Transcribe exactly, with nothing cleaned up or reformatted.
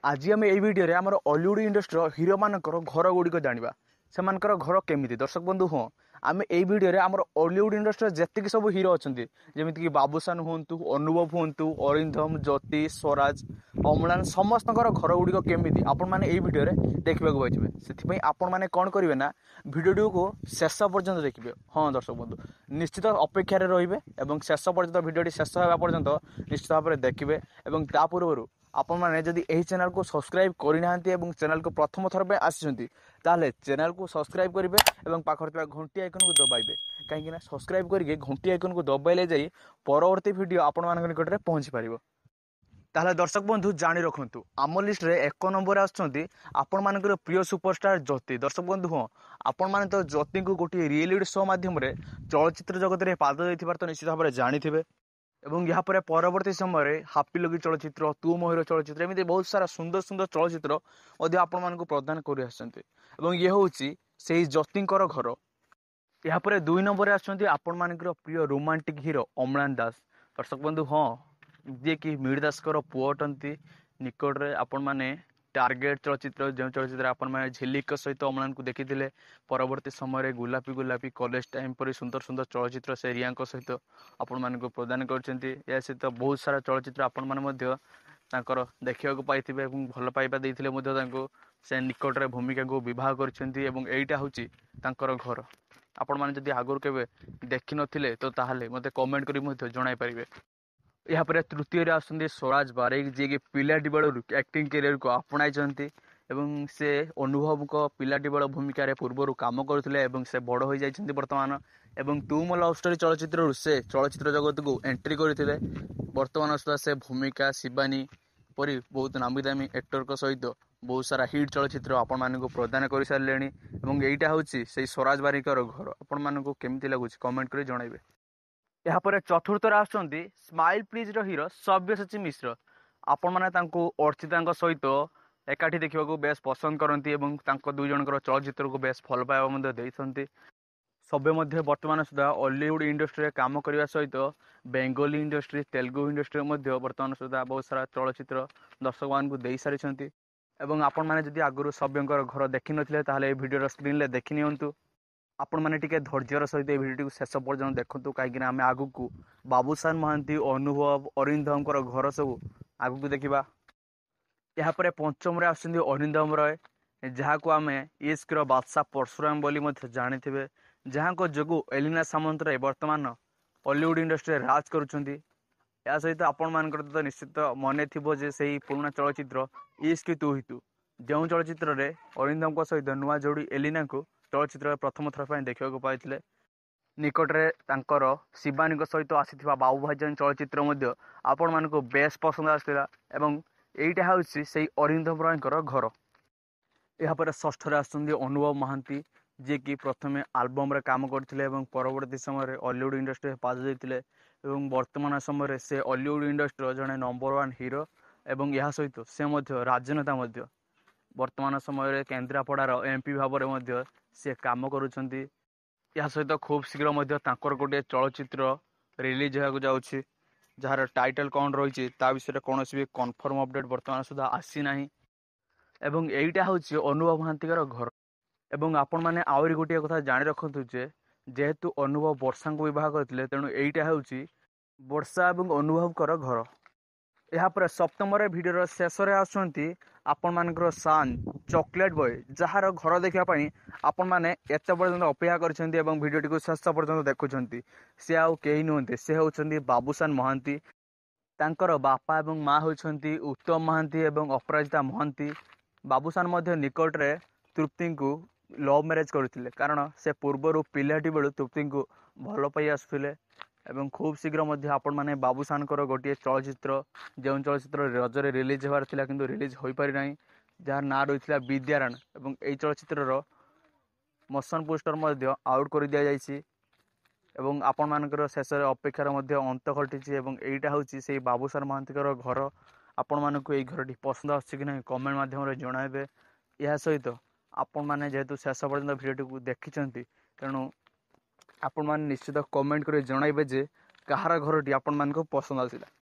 ଆଜି ଆମେ ଏଇ ଭିଡ଼ିଓରେ ଆମର ଅଲିଉଡ଼ ଇଣ୍ଡଷ୍ଟ୍ରିର ହିରୋମାନଙ୍କର ଘର ଗୁଡ଼ିକ ଜାଣିବା, ସେମାନଙ୍କର ଘର କେମିତି। ଦର୍ଶକ ବନ୍ଧୁ, ହଁ, ଆମେ ଏଇ ଭିଡ଼ିଓରେ ଆମର ଅଲିଉଡ଼ ଇଣ୍ଡଷ୍ଟ୍ରିର ଯେତିକି ସବୁ ହିରୋ ଅଛନ୍ତି, ଯେମିତିକି ବାବୁସାନ ହୁଅନ୍ତୁ, ଅନୁଭବ ହୁଅନ୍ତୁ, ଅରିନ୍ଦମ, ଜ୍ୟୋତି, ସ୍ୱରାଜ, ଅମ୍ଳାନ, ସମସ୍ତଙ୍କର ଘର ଗୁଡ଼ିକ କେମିତି ଆପଣମାନେ ଏଇ ଭିଡ଼ିଓରେ ଦେଖିବାକୁ ପାଇଯିବେ। ସେଥିପାଇଁ ଆପଣମାନେ କ'ଣ କରିବେ ନା ଭିଡ଼ିଓଟିକୁ ଶେଷ ପର୍ଯ୍ୟନ୍ତ ଦେଖିବେ। ହଁ ଦର୍ଶକ ବନ୍ଧୁ, ନିଶ୍ଚିତ ଅପେକ୍ଷାରେ ରହିବେ ଏବଂ ଶେଷ ପର୍ଯ୍ୟନ୍ତ, ଭିଡ଼ିଓଟି ଶେଷ ହେବା ପର୍ଯ୍ୟନ୍ତ ନିଶ୍ଚିତ ଭାବରେ ଦେଖିବେ। ଏବଂ ତା ପୂର୍ବରୁ ଆପଣମାନେ ଯଦି ଏହି ଚ୍ୟାନେଲକୁ ସବସ୍କ୍ରାଇବ୍ କରିନାହାନ୍ତି ଏବଂ ଚ୍ୟାନେଲକୁ ପ୍ରଥମ ଥର ପାଇଁ ଆସିଛନ୍ତି, ତାହେଲେ ଚ୍ୟାନେଲକୁ ସବସ୍କ୍ରାଇବ୍ କରିବେ ଏବଂ ପାଖରେ ଥିବା ଘଣ୍ଟି ଆଇକନ୍କୁ ଦବାଇବେ, କାହିଁକିନା ସବସ୍କ୍ରାଇବ୍ କରିକି ଘଣ୍ଟି ଆଇକନ୍କୁ ଦବାଇଲେ ଯାଇ ପରବର୍ତ୍ତୀ ଭିଡ଼ିଓ ଆପଣମାନଙ୍କ ନିକଟରେ ପହଞ୍ଚି ପାରିବ। ତାହେଲେ ଦର୍ଶକ ବନ୍ଧୁ, ଜାଣି ରଖନ୍ତୁ, ଆମ ଲିଷ୍ଟରେ ଏକ ନମ୍ବରରେ ଆସୁଛନ୍ତି ଆପଣମାନଙ୍କର ପ୍ରିୟ ସୁପରଷ୍ଟାର ଜ୍ୟୋତି। ଦର୍ଶକ ବନ୍ଧୁ, ହଁ, ଆପଣମାନେ ତ ଜ୍ୟୋତିଙ୍କୁ ଗୋଟିଏ ରିଏଲିଟି ଶୋ ମାଧ୍ୟମରେ ଚଳଚ୍ଚିତ୍ର ଜଗତରେ ପାଦ ଦେଇଥିବାର ତ ନିଶ୍ଚିତ ଭାବରେ ଜାଣିଥିବେ। ଏବଂ ଏହାପରେ ପରବର୍ତ୍ତୀ ସମୟରେ ହାପି ଲଗି ଚଳଚ୍ଚିତ୍ର, ତୁ ମହିର ଚଳଚ୍ଚିତ୍ର, ଏମିତି ବହୁତ ସାରା ସୁନ୍ଦର ସୁନ୍ଦର ଚଳଚ୍ଚିତ୍ର ମଧ୍ୟ ଆପଣମାନଙ୍କୁ ପ୍ରଦାନ କରି ଆସିଛନ୍ତି। ଏବଂ ଇଏ ହେଉଛି ସେଇ ଜ୍ୟୋତିଙ୍କର ଘର। ଏହାପରେ ଦୁଇ ନମ୍ବରରେ ଆସୁଛନ୍ତି ଆପଣମାନଙ୍କର ପ୍ରିୟ ରୋମାଣ୍ଟିକ୍ ହିରୋ ଅମ୍ଳାନ ଦାସ। ଦର୍ଶକ ବନ୍ଧୁ, ହଁ, ଯିଏକି ମିହିର ଦାସଙ୍କର ପୁଅ ଅଟନ୍ତି। ନିକଟରେ ଆପଣମାନେ ଟାର୍ଗେଟ୍ ଚଳଚ୍ଚିତ୍ର, ଯେଉଁ ଚଳଚ୍ଚିତ୍ର ଆପଣମାନେ ଝିଲିଙ୍କ ସହିତ ଅମ୍ଳାନକୁ ଦେଖିଥିଲେ, ପରବର୍ତ୍ତୀ ସମୟରେ ଗୋଲାପୀ ଗୋଲାପୀ, କଲେଜ ଟାଇମ୍ ପରି ସୁନ୍ଦର ସୁନ୍ଦର ଚଳଚ୍ଚିତ୍ର ସେ ରିୟାଙ୍କ ସହିତ ଆପଣମାନଙ୍କୁ ପ୍ରଦାନ କରିଛନ୍ତି। ଏହା ସହିତ ବହୁତ ସାରା ଚଳଚ୍ଚିତ୍ର ଆପଣମାନେ ମଧ୍ୟ ତାଙ୍କର ଦେଖିବାକୁ ପାଇଥିବେ ଏବଂ ଭଲ ପାଇବା ଦେଇଥିଲେ ମଧ୍ୟ ତାଙ୍କୁ। ସେ ନିକଟରେ ଭୂମିକାକୁ ବିବାହ କରିଛନ୍ତି ଏବଂ ଏଇଟା ହେଉଛି ତାଙ୍କର ଘର। ଆପଣମାନେ ଯଦି ଆଗରୁ କେବେ ଦେଖିନଥିଲେ ତ ତାହେଲେ ମୋତେ କମେଣ୍ଟ କରି ମଧ୍ୟ ଜଣାଇ ପାରିବେ। ଏହାପରେ ତୃତୀୟରେ ଆସୁଛନ୍ତି ସ୍ୱରାଜ ବାରିକ, ଯିଏକି ପିଲାଟି ବେଳରୁ ଆକ୍ଟିଂ କ୍ୟାରିୟରକୁ ଆପଣାଇଛନ୍ତି ଏବଂ ସେ ଅନୁଭବଙ୍କ ପିଲାଟି ବେଳ ଭୂମିକାରେ ପୂର୍ବରୁ କାମ କରୁଥିଲେ ଏବଂ ସେ ବଡ଼ ହୋଇଯାଇଛନ୍ତି ବର୍ତ୍ତମାନ। ଏବଂ ତୁ ମୋ ଲଭ୍ ଷ୍ଟୋରି ଚଳଚ୍ଚିତ୍ରରୁ ସେ ଚଳଚ୍ଚିତ୍ର ଜଗତକୁ ଏଣ୍ଟ୍ରି କରିଥିଲେ। ବର୍ତ୍ତମାନ ସୁଦ୍ଧା ସେ ଭୂମିକା, ଶିବାନୀ ପରି ବହୁତ ନାମୀ ଦାମୀ ଆକ୍ଟରଙ୍କ ସହିତ ବହୁତ ସାରା ହିଟ୍ ଚଳଚ୍ଚିତ୍ର ଆପଣମାନଙ୍କୁ ପ୍ରଦାନ କରିସାରିଲେଣି। ଏବଂ ଏଇଟା ହେଉଛି ସେଇ ସ୍ୱରାଜ ବାରିକର ଘର। ଆପଣମାନଙ୍କୁ କେମିତି ଲାଗୁଛି କମେଣ୍ଟ କରି ଜଣାଇବେ। ଏହାପରେ ଚତୁର୍ଥରେ ଆସୁଛନ୍ତି ସ୍ମାଇଲ୍ ପ୍ଲିଜ୍ର ହିରୋ ସବ୍ୟସାଚୀ ମିଶ୍ର। ଆପଣମାନେ ତାଙ୍କୁ ଅର୍ଚ୍ଚିତାଙ୍କ ସହିତ ଏକାଠି ଦେଖିବାକୁ ବେଶ ପସନ୍ଦ କରନ୍ତି ଏବଂ ତାଙ୍କ ଦୁଇ ଜଣଙ୍କର ଚଳଚ୍ଚିତ୍ରକୁ ବେଶ ଭଲ ପାଇବା ମଧ୍ୟ ଦେଇଛନ୍ତି। ସବ୍ୟ ମଧ୍ୟ ବର୍ତ୍ତମାନ ସୁଦ୍ଧା ଅଲିଉଡ଼ ଇଣ୍ଡଷ୍ଟ୍ରିରେ କାମ କରିବା ସହିତ ବେଙ୍ଗଲୀ ଇଣ୍ଡଷ୍ଟ୍ରି, ତେଲୁଗୁ ଇଣ୍ଡଷ୍ଟ୍ରିରେ ମଧ୍ୟ ବର୍ତ୍ତମାନ ସୁଦ୍ଧା ବହୁତ ସାରା ଚଳଚ୍ଚିତ୍ର ଦର୍ଶକମାନଙ୍କୁ ଦେଇସାରିଛନ୍ତି। ଏବଂ ଆପଣମାନେ ଯଦି ଆଗରୁ ସବ୍ୟଙ୍କର ଘର ଦେଖିନଥିଲେ, ତାହେଲେ ଏହି ଭିଡ଼ିଓର ସ୍କ୍ରିନ୍ରେ ଦେଖିନିଅନ୍ତୁ। ଆପଣମାନେ ଟିକେ ଧୈର୍ଯ୍ୟର ସହିତ ଏହି ଭିଡ଼ିଓଟିକୁ ଶେଷ ପର୍ଯ୍ୟନ୍ତ ଦେଖନ୍ତୁ, କାହିଁକିନା ଆମେ ଆଗକୁ ବାବୁସାନ ମହାନ୍ତି, ଅନୁଭବ, ଅରିନ୍ଦମଙ୍କର ଘର ସବୁ ଆଗକୁ ଦେଖିବା। ଏହାପରେ ପଞ୍ଚମରେ ଆସୁଛନ୍ତି ଅରିନ୍ଦମ ରୟ, ଯାହାକୁ ଆମେ ଇସ୍କର ବାଦଶାହ ପରଶୁରାମ ବୋଲି ମଧ୍ୟ ଜାଣିଥିବେ, ଯାହାଙ୍କ ଯୋଗୁଁ ଏଲିନା ସାମନ୍ତରାୟ ବର୍ତ୍ତମାନ ଅଲିଉଡ଼ ଇଣ୍ଡଷ୍ଟ୍ରିରେ ରାଜ କରୁଛନ୍ତି। ଏହା ସହିତ ଆପଣମାନଙ୍କର ତ ନିଶ୍ଚିତ ମନେ ଥିବ ଯେ ସେଇ ପୁରୁଣା ଚଳଚ୍ଚିତ୍ର ଇସ୍କ ତୁ ହି ତୁ, ଯେଉଁ ଚଳଚ୍ଚିତ୍ରରେ ଅରିନ୍ଦମଙ୍କ ସହିତ ନୂଆ ଯୋଡ଼ି ଏଲିନାଙ୍କୁ ଚଳଚ୍ଚିତ୍ରରେ ପ୍ରଥମ ଥର ପାଇଁ ଦେଖିବାକୁ ପାଇଥିଲେ। ନିକଟରେ ତାଙ୍କର ଶିବାନୀଙ୍କ ସହିତ ଆସିଥିବା ବାବୁ ଭାଇଜାନ ଚଳଚ୍ଚିତ୍ର ମଧ୍ୟ ଆପଣମାନଙ୍କୁ ବେଶ ପସନ୍ଦ ଆସିଥିଲା। ଏବଂ ଏଇଟା ହେଉଛି ସେଇ ଅରିନ୍ଦମ ରୟଙ୍କର ଘର। ଏହାପରେ ଷଷ୍ଠରେ ଆସୁଛନ୍ତି ଅନୁଭବ ମହାନ୍ତି, ଯିଏକି ପ୍ରଥମେ ଆଲବମ୍ରେ କାମ କରିଥିଲେ ଏବଂ ପରବର୍ତ୍ତୀ ସମୟରେ ଅଲିଉଡ଼ ଇଣ୍ଡଷ୍ଟ୍ରିରେ ପାଦ ଦେଇଥିଲେ। ଏବଂ ବର୍ତ୍ତମାନ ସମୟରେ ସେ ଅଲିଉଡ଼ ଇଣ୍ଡଷ୍ଟ୍ରିର ଜଣେ ନମ୍ବର ୱାନ୍ ହିରୋ ଏବଂ ଏହା ସହିତ ସେ ମଧ୍ୟ ରାଜନେତା ମଧ୍ୟ। ବର୍ତ୍ତମାନ ସମୟରେ କେନ୍ଦ୍ରାପଡ଼ାର ଏମ୍ ପି ଭାବରେ ମଧ୍ୟ ସେ କାମ କରୁଛନ୍ତି। ଏହା ସହିତ ଖୁବ୍ ଶୀଘ୍ର ମଧ୍ୟ ତାଙ୍କର ଗୋଟିଏ ଚଳଚ୍ଚିତ୍ର ରିଲିଜ୍ ହେବାକୁ ଯାଉଛି, ଯାହାର ଟାଇଟଲ୍ କ'ଣ ରହିଛି ତା ବିଷୟରେ କୌଣସି ବି କନଫର୍ମ ଅପଡ଼େଟ୍ ବର୍ତ୍ତମାନ ସୁଦ୍ଧା ଆସିନାହିଁ। ଏବଂ ଏଇଟା ହେଉଛି ଅନୁଭବ ମହାନ୍ତିଙ୍କର ଘର। ଏବଂ ଆପଣମାନେ ଆହୁରି ଗୋଟିଏ କଥା ଜାଣି ରଖନ୍ତୁ ଯେ ଯେହେତୁ ଅନୁଭବ ବର୍ଷାଙ୍କୁ ବିବାହ କରିଥିଲେ, ତେଣୁ ଏଇଟା ହେଉଛି ବର୍ଷା ଏବଂ ଅନୁଭବଙ୍କର ଘର। ଏହାପରେ ସପ୍ତମରେ, ଭିଡ଼ିଓର ଶେଷରେ ଆସୁଛନ୍ତି ଆପଣମାନଙ୍କର ସାନ୍ ଚକୋଲେଟ୍ ବୟ, ଯାହାର ଘର ଦେଖିବା ପାଇଁ ଆପଣମାନେ ଏତେ ପର୍ଯ୍ୟନ୍ତ ଅପେକ୍ଷା କରିଛନ୍ତି ଏବଂ ଭିଡ଼ିଓଟିକୁ ଶେଷ ପର୍ଯ୍ୟନ୍ତ ଦେଖୁଛନ୍ତି। ସେ ଆଉ କେହି ନୁହନ୍ତି, ସେ ହେଉଛନ୍ତି ବାବୁସାନ ମହାନ୍ତି। ତାଙ୍କର ବାପା ଏବଂ ମା ହେଉଛନ୍ତି ଉତ୍ତମ ମହାନ୍ତି ଏବଂ ଅପରାଜିତା ମହାନ୍ତି। ବାବୁସାନ ମଧ୍ୟ ନିକଟରେ ତୃପ୍ତିଙ୍କୁ ଲଭ୍ ମ୍ୟାରେଜ୍ କରିଥିଲେ, କାରଣ ସେ ପୂର୍ବରୁ ପିଲାଟି ବେଳୁ ତୃପ୍ତିଙ୍କୁ ଭଲ ପାଇ ଆସୁଥିଲେ। ଏବଂ ଖୁବ୍ ଶୀଘ୍ର ମଧ୍ୟ ଆପଣମାନେ ବାବୁସାନଙ୍କର ଗୋଟିଏ ଚଳଚ୍ଚିତ୍ର, ଯେଉଁ ଚଳଚ୍ଚିତ୍ର ରଜରେ ରିଲିଜ୍ ହେବାର ଥିଲା କିନ୍ତୁ ରିଲିଜ୍ ହୋଇପାରିନାହିଁ, ଯାହାର ନାଁ ରହିଥିଲା ବିଦ୍ୟାରାଣ, ଏବଂ ଏହି ଚଳଚ୍ଚିତ୍ରର ମୋସନ୍ ପୋଷ୍ଟର ମଧ୍ୟ ଆଉଟ୍ କରିଦିଆଯାଇଛି ଏବଂ ଆପଣମାନଙ୍କର ଶେଷରେ ଅପେକ୍ଷାର ମଧ୍ୟ ଅନ୍ତ ଘଟିଛି। ଏବଂ ଏଇଟା ହେଉଛି ସେଇ ବାବୁସାନ ମହାନ୍ତିଙ୍କର ଘର। ଆପଣମାନଙ୍କୁ ଏଇ ଘରଟି ପସନ୍ଦ ଆସୁଛି କି ନାହିଁ କମେଣ୍ଟ ମାଧ୍ୟମରେ ଜଣାଇବେ। ଏହା ସହିତ ଆପଣମାନେ ଯେହେତୁ ଶେଷ ପର୍ଯ୍ୟନ୍ତ ଭିଡ଼ିଓଟିକୁ ଦେଖିଛନ୍ତି, ତେଣୁ ଆପଣମାନେ ନିଶ୍ଚିତ କମେଣ୍ଟ କରି ଜଣାଇବେ ଯେ କାହାର ଘରଟି ଆପଣମାନଙ୍କୁ ପସନ୍ଦ ଆସିଲା।